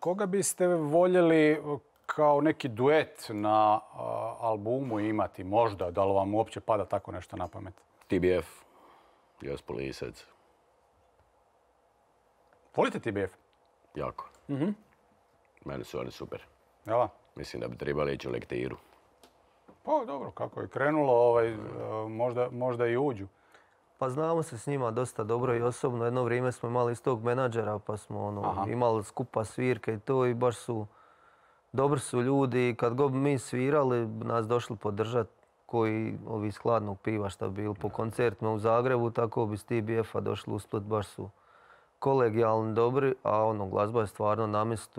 Koga biste voljeli kao neki duet na albumu imati možda? Da li vam uopće pada tako nešto na pamet? TBF, Josip Lisac. Volite TBF? Jako. Meni su oni super. Jel? Mislim da bi trebali ići u lektiru. Pa dobro, kako je krenulo, možda i uđu. Pa znamo se s njima dosta dobro i osobno. Jedno vrijeme smo imali istog menadžera pa smo imali skupa svirke i to i baš su dobri su ljudi. Kad god mi svirali, nas došli podržati koji ovi iz Hladnog piva što bi bili po koncertima u Zagrebu, tako bi s TBF-a došli u Split, baš su kolegijalni, dobri, a glazba je stvarno na mjestu.